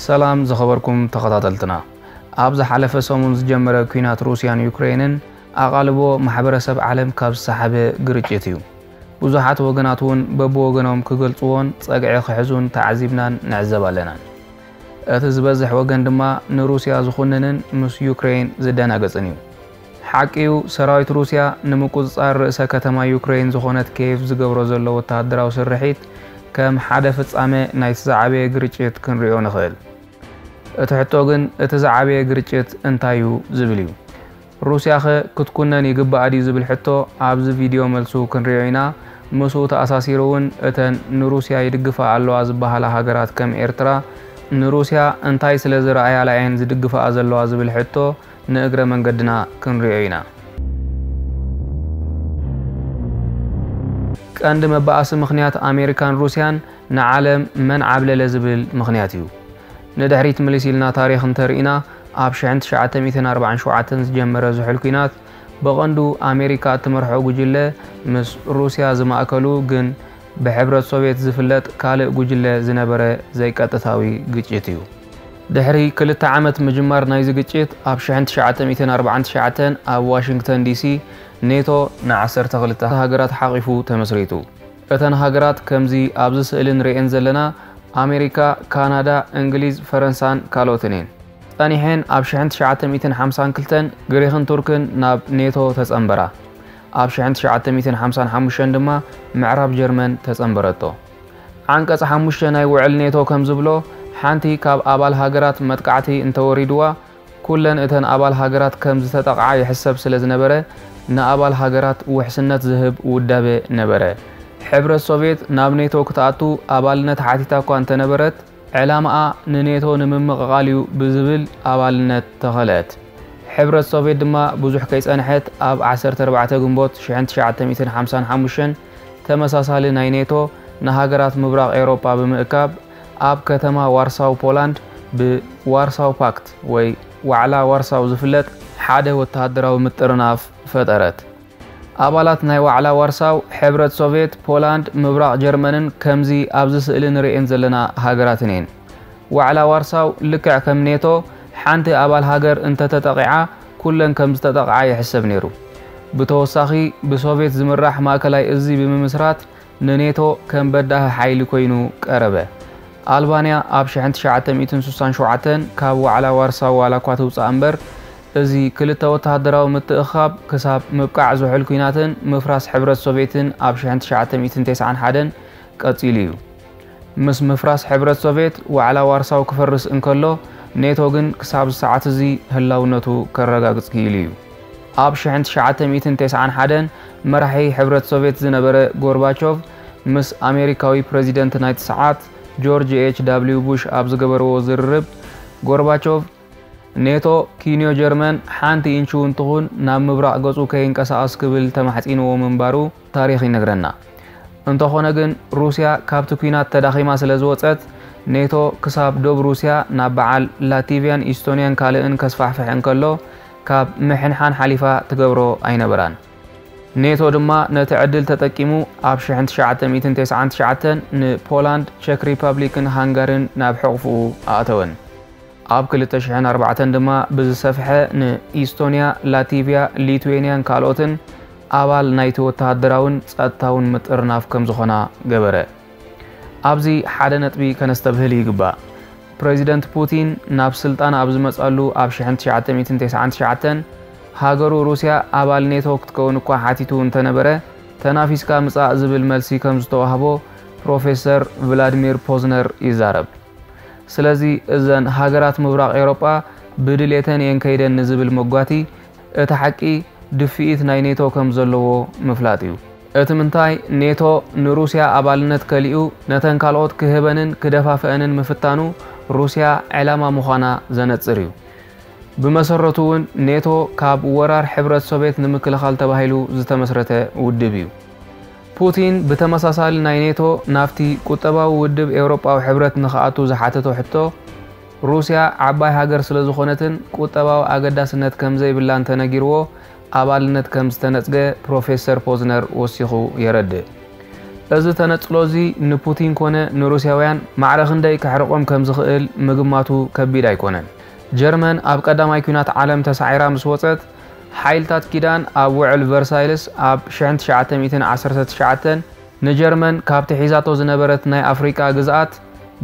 ሰላም ዝኸበርኩም ተኸታተልትና፣ ኣብ ዝሓለፈ ሰሙን ዝጀመረ ኲናት ሩስያን ዩክሬንን ኣቓልቦ ማሕበረሰብ ዓለም ካብ ዝሰሓበ ግርጭት እዩ። ብዙሓት ወገናት እውን በብወገኖም ክገልጽዎን ጸግዒ ክሕዙን ተዓዚብናን ንዕዘብ ኣለና። እቲ ዝበዝሕ ወገን ድማ ንሩስያ ዝኹንንን ምስ ዩክሬን ዝደናገጽን እዩ። ሓቂኡ፣ ሰራዊት ሩስያ ንምቁጽጻር ርእሰ ከተማ ዩክሬን ዝኾነት ኬቭ ዝገብሮ ዘሎ ወተሃደራዊ ስርሒት ከም ሓደ ፍጻመ ናይቲ ዝዓበየ ግርጭት ክንሪኦ ንኽእል። እቲ ሕቶ ግን፣ እቲ ዝዓበየ ግርጭት እንታይ እዩ ዝብል እዩ። ሩስያኸ ክትኩነን ይግባኣ ድዩ ዝብል ሕቶ ኣብዚ ቪድዮ መልሱ ክንሪኦ ኢና። ምስኡ ተኣሳሲሩ እውን እተን ንሩስያ ይድግፋ ኣለዋ ዝበሃላ ሃገራት ከም ኤርትራ ንሩስያ እንታይ ስለ ዝረኣያላ እየን ዝድግፋኣ ዘለዋ ዝብል ሕቶ ንእግረ መንገድና ክንሪኦ ኢና። ቀንዲ መባኣሲ ምኽንያት ኣሜሪካን ሩስያን ንዓለም መን ዓብለለ ዝብል ምኽንያት እዩ። ንድሕሪት ምልስ ኢልና ታሪኽ እንተርኢና፣ ኣብ ሽሕን ትሽዓተ ሚእትን ኣርባዓን ሸውዓተን ዝጀመረ ዝሑል ኲናት ብቐንዱ ኣሜሪካ እትመርሖ ጉጅለ ምስ ሩስያ ዝማእከሉ ግን ብሕብረት ሶቭየት ዝፍለጥ ካልእ ጉጅለ ዝነበረ ዘይቀጥታዊ ግጭት እዩ። ድሕሪ ክልተ ዓመት ምጅማር ናይዚ ግጭት፣ ኣብ ሽሕን ትሽዓተ ሚእትን ኣርባዓን ትሽዓተን ኣብ ዋሽንግተን ዲሲ ኔቶ ንዓሰርተ ክልተ ሃገራት ሓቒፉ ተመስሪቱ። እተን ሃገራት ከምዚ ኣብዚ ስእሊ ንርእየን ዘለና ኣሜሪካ፣ ካናዳ፣ እንግሊዝ፣ ፈረንሳን ካልኦትን እየን። ጸኒሐን ኣብ ሽሕን ትሽዓተ ሚእትን ሓምሳን ክልተን ግሪኽን ቱርክን ናብ ኔቶ ተጸንበራ። ኣብ ሽሕን ትሽዓተ ሚእትን ሓምሳን ሓሙሽተን ድማ ምዕራብ ጀርመን ተጸንበረቶ። ዓንቀጽ ሓሙሽተ ናይ ውዕል ኔቶ ከም ዝብሎ፣ ሓንቲ ካብ ኣባል ሃገራት መጥቃዕቲ እንተወሪድዋ፣ ኩለን እተን ኣባል ሃገራት ከም ዝተጠቕዓ ይሕሰብ ስለ ዝነበረ፣ ንኣባል ሃገራት ውሕስነት ዝህብ ውዳበ ነበረ። ሕብረት ሶቭየት ናብ ኔቶ ክትኣቱ ኣባልነት ሓቲታ እኳ እንተነበረት፣ ዕላማኣ ንኔቶ ንምምቕቓል እዩ ብዝብል ኣባልነት ተኸልአት። ሕብረት ሶቭየት ድማ ብዙሕ ከይጸንሐት፣ ኣብ ዓሰርተ ኣርባዕተ ግንቦት ሽሕን ትሽዓተ ሚእትን ሓምሳን ሓሙሽተን ተመሳሳሊ ናይ ኔቶ ንሃገራት ምብራቕ ኤውሮጳ ብምእካብ፣ ኣብ ከተማ ዋርሳው ፖላንድ ብዋርሳው ፓክት ወይ ዋዕላ ዋርሳው ዝፍለጥ ሓደ ወተሃደራዊ ምጥርናፍ ፈጠረት። ኣባላት ናይ ዋዕላ ዋርሳው፣ ሕብረት ሶቭየት፣ ፖላንድ፣ ምብራቕ ጀርመንን ከምዚ ኣብዚ ስእሊ ንርእየን ዘለና ሃገራትን እየን። ዋዕላ ዋርሳው ልክዕ ከም ኔቶ ሓንቲ ኣባል ሃገር እንተተጠቒዓ ኩለን ከም ዝተጠቕዓ ይሕሰብ ነይሩ። ብተወሳኺ ብሶቭየት ዝምራሕ ማእከላይ እዚ ብምምስራት ንኔቶ ከም በዳሂ ሓይሊ ኮይኑ ቀረበ። ኣልባንያ ኣብ ሽሕን ትሽዓተ ሚእትን ስሳን ሸውዓተን ካብ ዋዕላ ዋርሳው ዋላ እኳ ትውጻእ እምበር፣ እዚ ክልተ ወተሃደራዊ ምትእኽኻብ ክሳብ ምብቃዕ ዝሑል ኲናትን ምፍራስ ሕብረት ሶቭየትን ኣብ ሽሕን ትሽዓተ ሚእትን ተስዓን ሓደን ቀጺሉ እዩ። ምስ ምፍራስ ሕብረት ሶቭየት ዋዕላ ዋርሳው ክፈርስ እንከሎ፣ ኔቶ ግን ክሳብ ሰዓት እዚ ህላውነቱ ከረጋግጽ ክኢሉ እዩ። ኣብ ሽሕን ትሽዓተ ሚእትን ተስዓን ሓደን መራሒ ሕብረት ሶቭየት ዝነበረ ጎርባቾቭ ምስ ኣሜሪካዊ ፕረዚደንት ናይቲ ሰዓት ጆርጅ ኤች ዳብሊው ቡሽ ኣብ ዝገበርዎ ዝርርብ፣ ጎርባቾቭ ኔቶ ኪንዮ ጀርመን ሓንቲ ኢንች እውን ትኹን ናብ ምብራቕ ገጹ ከይንቀሳቐስ ክብል ተማሕጺንዎ ምንባሩ ታሪኽ ይነግረና። እንተኾነ ግን፣ ሩስያ ካብቲ ኲናት ተዳኺማ ስለ ዝወጸት፣ ኔቶ ክሳብ ዶብ ሩስያ ናብ በዓል ላቲቭያን ኢስቶንያን ካልእን ከስፋሕፍሕ እንከሎ፣ ካብ ምሕንሓን ሓሊፋ ትገብሮ ኣይነበራን። ኔቶ ድማ ነቲ ዕድል ተጠቂሙ ኣብ ሽሕን ትሽዓተ ሚእትን ተስዓን ትሽዓተን ንፖላንድ፣ ቸክ ሪፐብሊክን ሃንጋሪን ናብ ሕቑፍኡ ኣእተወን። ኣብ ክልተ ሽሕን ኣርባዕተን ድማ ብዝሰፍሐ ንኢስቶንያ፣ ላቲቭያ፣ ሊትዌንያን ካልኦትን ኣባል ናይቲ ወተሃደራውን ጸጥታውን ምጥርናፍ ከም ዝኾና ገበረ። ኣብዚ ሓደ ነጥቢ ከነስተብህል ይግባእ። ፕረዚደንት ፑቲን ናብ ስልጣን ኣብ ዝመጸሉ ኣብ ሽሕን ትሽዓተ ሚእትን ተስዓን ትሽዓተን ሃገሩ ሩስያ ኣባል ኔቶ ክትከውን እኳ ሓቲቱ እንተነበረ፣ ተናፊስካ ምጻእ ዝብል መልሲ ከም ዝተዋህቦ ፕሮፌሰር ቭላድሚር ፖዝነር ይዛረብ። ስለዚ እዘን ሃገራት ምብራቕ ኤውሮጳ ብድሌተን እየን ከይደን ንዝብል መጓቲ፣ እቲ ሓቂ ድፍኢት ናይ ኔቶ ከም ዘለዎ ምፍላጥ እዩ። እቲ ምንታይ፣ ኔቶ ንሩስያ ኣባልነት ከሊኡ ነተን ካልኦት ክህበንን ክደፋፍአንን ምፍታኑ ሩስያ ዕላማ ምዃና ዘነጽር እዩ። ብመሰረቱ እውን ኔቶ ካብ ወራር ሕብረት ሶቭየት ንምክልኻል ተባሂሉ ዝተመስረተ ውድብ እዩ። ፑቲን ብተመሳሳሊ ናይ ኔቶ ናብቲ ቁጠባዊ ውድብ ኤውሮጳዊ ሕብረት ንኽኣቱ ዝሓተቶ ሕቶ፣ ሩስያ ዓባይ ሃገር ስለ ዝኾነትን ቁጠባዊ ኣገዳስነት ከም ዘይብላን ተነጊርዎ፣ ኣባልነት ከም ዝተነጽገ ፕሮፌሰር ፖዝነር ወሲኹ የረድእ። እዚ ተነጽሎ እዚ ንፑቲን ኮነ ንሩስያውያን ማዕረ ክንደይ ከሕርቖም ከም ዝኽእል ምግማቱ ከቢድ ኣይኮነን። ጀርመን ኣብ ቀዳማይ ኲናት ዓለም ተሳዒራ ምስ ወጸት፣ ሓይልታት ኪዳን ኣብ ውዕል ቨርሳይልስ ኣብ ሽሕን ትሽዓተ ሚእትን ዓሰርተ ትሽዓተን ንጀርመን ካብቲ ሒዛቶ ዝነበረት ናይ ኣፍሪቃ ግዝኣት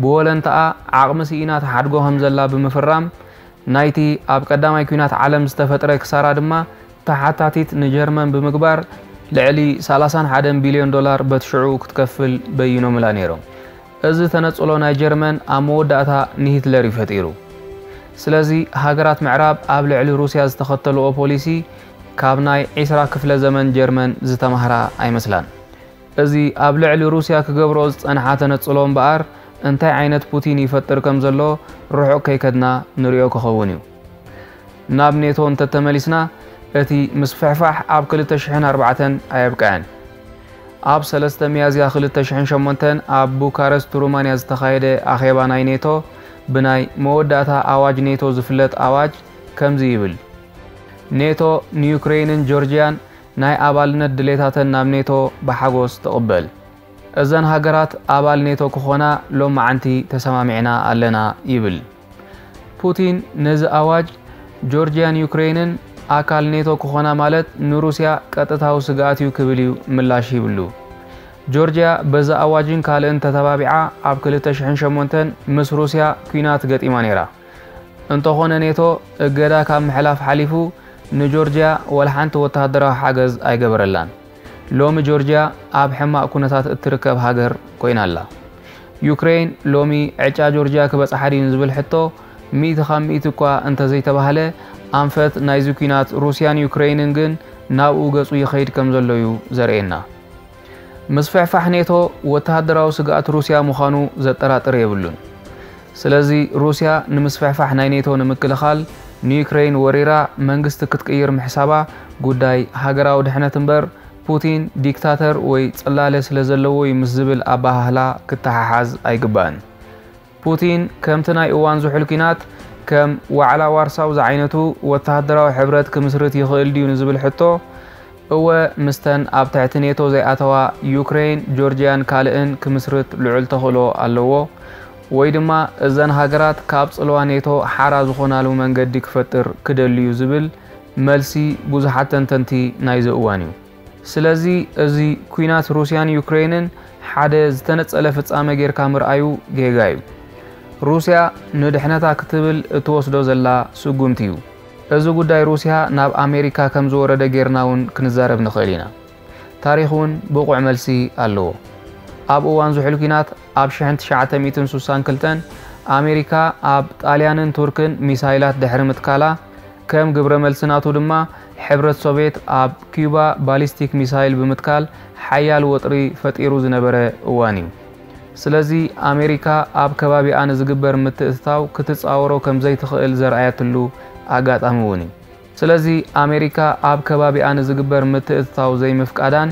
ብወለንታኣ ዓቕሚ ስኢና ትሓድጎ ከም ዘላ ብምፍራም፣ ናይቲ ኣብ ቀዳማይ ኲናት ዓለም ዝተፈጥረ ክሳራ ድማ ተሓታቲት ንጀርመን ብምግባር፣ ልዕሊ ሰላሳን ሓደን ቢልዮን ዶላር በቲ ሽዑ ክትከፍል በይኖምላ ነይሮም። እዚ ተነጽሎ ናይ ጀርመን ኣብ መወዳእታ ንሂትለር እዩ ፈጢሩ። ስለዚ ሃገራት ምዕራብ ኣብ ልዕሊ ሩስያ ዝተኸተልኦ ፖሊሲ ካብ ናይ ዒስራ ክፍለ ዘመን ጀርመን ዝተማህራ ኣይመስላን። እዚ ኣብ ልዕሊ ሩስያ ክገብሮ ዝጸንሓ ተነጽሎ እምበኣር እንታይ ዓይነት ፑቲን ይፈጥር ከም ዘሎ ርሑቕ ከይከድና ንሪኦ ክኸውን እዩ። ናብ ኔቶ እንተተመሊስና እቲ ምስፍሕፋሕ ኣብ ክልተ ሽሕን ኣርባዕተን ኣየብቅዐን። ኣብ ሰለስተ ሚያዝያ ክልተ ሽሕን ሸሞንተን ኣብ ቡካረስት ሩማንያ ዝተኻየደ ኣኼባ ናይ ኔቶ ብናይ መወዳእታ ኣዋጅ ኔቶ ዝፍለጥ ኣዋጅ ከምዚ ይብል። ኔቶ ንዩክሬይንን ጆርጅያን ናይ ኣባልነት ድሌታተን ናብ ኔቶ ብሓጎስ ትቕበል። እዘን ሃገራት ኣባል ኔቶ ክኾና ሎማዓንቲ ተሰማሚዕና ኣለና ይብል። ፑቲን ነዚ ኣዋጅ ጆርጅያን ዩክሬይንን ኣካል ኔቶ ክኾና ማለት ንሩስያ ቀጥታዊ ስግኣት እዩ ክብል እዩ ምላሽ ሂብሉ። ጆርጅያ በዚ ኣዋጅን ካልእን ተተባቢዓ ኣብ ክልተ ሽሕን ሸሞንተን ምስ ሩስያ ኲናት ገጢማ ነይራ። እንተኾነ ኔቶ እገዳ ካብ ምሕላፍ ሓሊፉ ንጆርጅያ ወላ ሓንቲ ወተሃደራዊ ሓገዝ ኣይገበረላን። ሎሚ ጆርጅያ ኣብ ሕማቕ ኩነታት እትርከብ ሃገር ኮይና ኣላ። ዩክሬን ሎሚ ዕጫ ጆርጅያ ክበጽሓ ድዩ ንዝብል ሕቶ ሚእቲ ካብ ሚእቲ እኳ እንተዘይተባህለ ኣንፈት ናይዚ ኲናት ሩስያን ዩክሬይንን ግን ናብኡ ገጹ ይኸይድ ከም ዘሎ እዩ ዘርእየና። ምስፍሕፋሕ ኔቶ ወተሃደራዊ ስግኣት ሩስያ ምዃኑ ዘጠራጥር የብሉን። ስለዚ ሩስያ ንምስፍሕፋሕ ናይ ኔቶ ንምክልኻል ንዩክሬይን ወሪራ መንግስቲ ክትቅይር ምሕሳባ ጉዳይ ሃገራዊ ድሕነት እምበር ፑቲን ዲክታተር ወይ ጽላለ ስለ ዘለዎ እዩ ምስ ዝብል ኣበሃህላ ክተሓሓዝ ኣይግባእን። ፑቲን ከምቲ ናይ እዋን ዝሑል ኲናት ከም ዋዕላ ዋርሳው ዝዓይነቱ ወተሃደራዊ ሕብረት ክምስርት ይኽእል ድዩ ንዝብል ሕቶ፣ እወ፣ ምስተን ኣብ ትሕቲ ኔቶ ዘይኣተዋ ዩክሬን፣ ጆርጅያን ካልእን ክምስርት ልዑል ተኽእሎ ኣለዎ፣ ወይ ድማ እዘን ሃገራት ካብ ጽልዋ ኔቶ ሓራ ዝኾናሉ መንገዲ ክፈጥር ክደሊ እዩ ዝብል መልሲ ብዙሓት ተንተንቲ ናይዚ እዋን እዩ። ስለዚ እዚ ኲናት ሩስያን ዩክሬንን ሓደ ዝተነጸለ ፍጻመ ጌርካ ምርኣዩ ጌጋ እዩ። ሩስያ ንድሕነታ ክትብል እትወስዶ ዘላ ስጉምቲ እዩ። እዚ ጉዳይ ሩስያ ናብ ኣሜሪካ ከም ዝወረደ ጌርና እውን ክንዛረብ ንኽእል ኢና። ታሪኽ እውን ብቑዕ መልሲ ኣለዎ። ኣብ እዋን ዝሑል ኲናት ኣብ ሽሕን ትሽዓተ ሚእትን ሱሳን ክልተን ኣሜሪካ ኣብ ጣልያንን ቱርክን ሚሳይላት ድሕሪ ምትካላ፣ ከም ግብረ መልሲ ናቱ ድማ ሕብረት ሶቭየት ኣብ ኪዩባ ባሊስቲክ ሚሳይል ብምትካል ሓያል ወጥሪ ፈጢሩ ዝነበረ እዋን እዩ። ስለዚ ኣሜሪካ ኣብ ከባቢኣ ንዝግበር ምትእትታው ክትጻወሮ ከም ዘይትኽእል ዘርኣየትሉ ኣጋጣሚ እውን እዩ። ስለዚ ኣሜሪካ ኣብ ከባቢኣ ንዝግበር ምትእትታው ዘይምፍቃዳን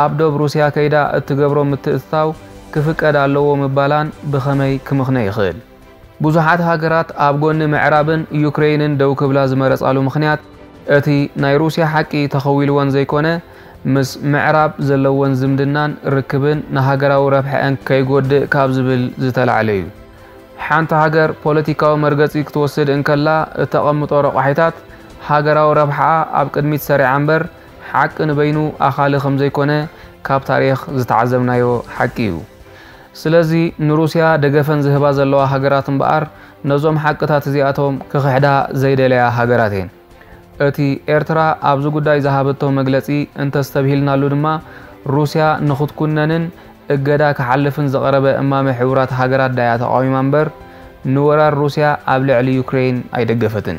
ኣብ ዶብ ሩስያ ከይዳ እትገብሮ ምትእትታው ክፍቀድ ኣለዎ ምባላን ብኸመይ ክምኽነ ይኽእል? ብዙሓት ሃገራት ኣብ ጎኒ ምዕራብን ዩክሬይንን ደው ክብላ ዝመረጻሉ ምኽንያት፣ እቲ ናይ ሩስያ ሓቂ ተኸዊልወን ዘይኮነ፣ ምስ ምዕራብ ዘለወን ዝምድናን ርክብን ንሃገራዊ ረብሐአን ከይጎድእ ካብ ዝብል ዝተላዕለ እዩ። ሓንቲ ሃገር ፖለቲካዊ መርገጺ ክትወስድ እንከላ እተቐምጦ ረቋሒታት፣ ሃገራዊ ረብሓኣ ኣብ ቅድሚት ሰሪዓ እምበር፣ ሓቂ ንበይኑ ኣኻሊ ከም ዘይኮነ ካብ ታሪኽ ዝተዓዘብናዮ ሓቂ እዩ። ስለዚ ንሩስያ ደገፈን ዝህባ ዘለዋ ሃገራት እምበኣር፣ ነዞም ሓቅታት እዚኣቶም ክኽሕዳ ዘይደለያ ሃገራት እየን። እቲ ኤርትራ ኣብዚ ጉዳይ ዝሃበቶ መግለጺ እንተስተብሂልናሉ ድማ፣ ሩስያ ንኽትኩነንን እገዳ ክሓልፍን ዝቐረበ እማመ ሕቡራት ሃገራት ዳያ ተቓዊማ እምበር፣ ንወራር ሩስያ ኣብ ልዕሊ ዩክሬን ኣይደገፈትን።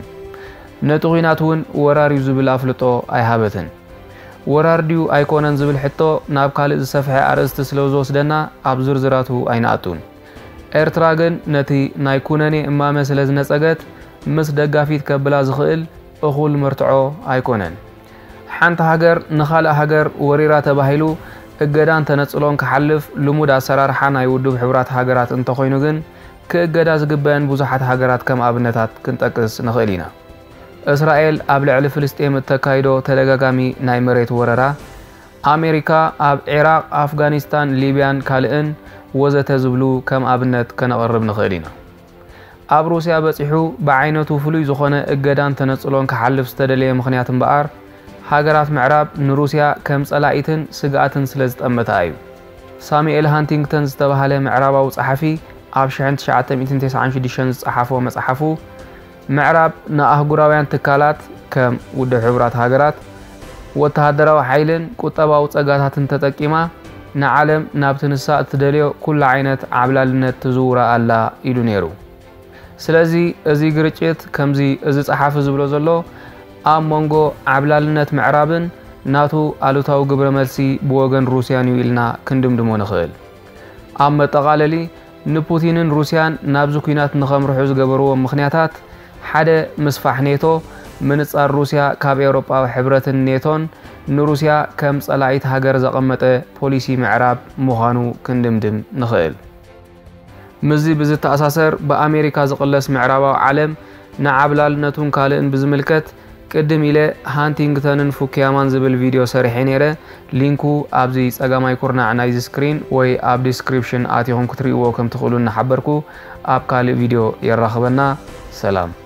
ነቲ ኲናት እውን ወራር እዩ ዝብል ኣፍልጦ ኣይሃበትን። ወራር ድዩ ኣይኮነን ዝብል ሕቶ ናብ ካልእ ዝሰፍሐ ኣርእስቲ ስለ ዝወስደና ኣብ ዝርዝራቱ ኣይንኣቱን። ኤርትራ ግን ነቲ ናይ ኩነኔ እማመ ስለ ዝነጸገት፣ ምስ ደጋፊት ከብላ ዝኽእል እኹል መርትዖ ኣይኮነን። ሓንቲ ሃገር ንኻልእ ሃገር ወሪራ ተባሂሉ እገዳን ተነጽሎን ክሓልፍ ልሙድ ኣሰራርሓ ናይ ውድብ ሕቡራት ሃገራት እንተኾይኑ ግን፣ ክእገዳ ዝግበአን ብዙሓት ሃገራት ከም ኣብነታት ክንጠቅስ ንኽእል ኢና። እስራኤል ኣብ ልዕሊ ፍልስጤም እተካይዶ ተደጋጋሚ ናይ መሬት ወረራ፣ ኣሜሪካ ኣብ ዒራቕ፣ ኣፍጋኒስታን፣ ሊብያን ካልእን ወዘተ ዝብሉ ከም ኣብነት ከነቕርብ ንኽእል ኢና። ኣብ ሩስያ በጺሑ ብዓይነቱ ፍሉይ ዝኾነ እገዳን ተነጽሎን ክሓልፍ ዝተደለየ ምኽንያት እምበኣር፣ ሃገራት ምዕራብ ንሩስያ ከም ጸላኢትን ስግኣትን ስለ ዝጠመታ እዩ። ሳሙኤል ሃንቲንግተን ዝተባህለ ምዕራባዊ ጸሓፊ ኣብ ሽሕን ትሽዓተ ሚእትን ተስዓን ሽዱሽተን ዝጸሓፎ መጽሓፉ፣ ምዕራብ ንኣህጉራውያን ትካላት ከም ውድብ ሕቡራት ሃገራት፣ ወተሃደራዊ ሓይልን ቁጠባዊ ጸጋታትን ተጠቂማ ንዓለም ናብቲ ንሳ እትደልዮ ኩሉ ዓይነት ዓብላልነት ትዝውራ ኣላ ኢሉ ነይሩ። ስለዚ እዚ ግርጭት ከምዚ እዚ ጸሓፊ ዝብሎ ዘሎ ኣብ መንጎ ዓብላልነት ምዕራብን ናቱ ኣሉታዊ ግብረ መልሲ ብወገን ሩስያን እዩ ኢልና ክንድምድሞ ንኽእል። ኣብ መጠቓለሊ ንፑቲንን ሩስያን ናብዚ ኲናት ንኸምርሑ ዝገበርዎም ምኽንያታት ሓደ ምስፋሕ ኔቶ፣ ምንጻር ሩስያ ካብ ኤውሮጳዊ ሕብረትን ኔቶን ንሩስያ ከም ጸላኢት ሃገር ዘቐመጠ ፖሊሲ ምዕራብ ምዃኑ ክንድምድም ንኽእል። ምስዚ ብዝተኣሳሰር ብኣሜሪካ ዝቕለስ ምዕራባዊ ዓለም ንዓብላልነቱን ካልእን ብዝምልከት ቅድም ኢለ ሃንቲንግተንን ፉኩያማን ዝብል ቪድዮ ሰሪሐ ነይረ። ሊንኩ ኣብዚ ጸጋማይ ኩርናዕ ናይዚ ስክሪን ወይ ኣብ ዲስክሪፕሽን ኣቲኹም ክትርእይዎ ከም ትኽእሉ እናሓበርኩ ኣብ ካልእ ቪድዮ የራኽበና። ሰላም።